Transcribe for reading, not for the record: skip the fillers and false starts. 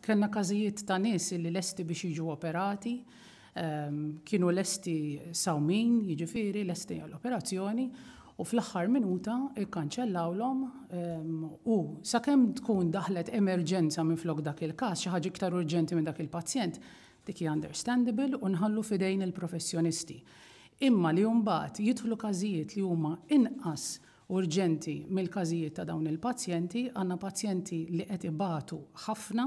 Kellna każijiet ta' nies li lesti biex jiġu operati, kienu lesti sawmin, jiġifieri lesti għall-operazzjoni, u fl-aħħar minuta ikkanċellawlhom u sakemm tkun daħlet emerġenza minflok dak il-każ, xi ħaġa iktar urġenti minn dak il-pazjent, dik hija understandable u nħallu f'idejn il-professjonisti. Imma li mbagħad jidħlu każijiet li huma inqas urġenti mill-każijiet ta' dawn il-pazjenti, għandna pazjenti li qed ibatu ħafna.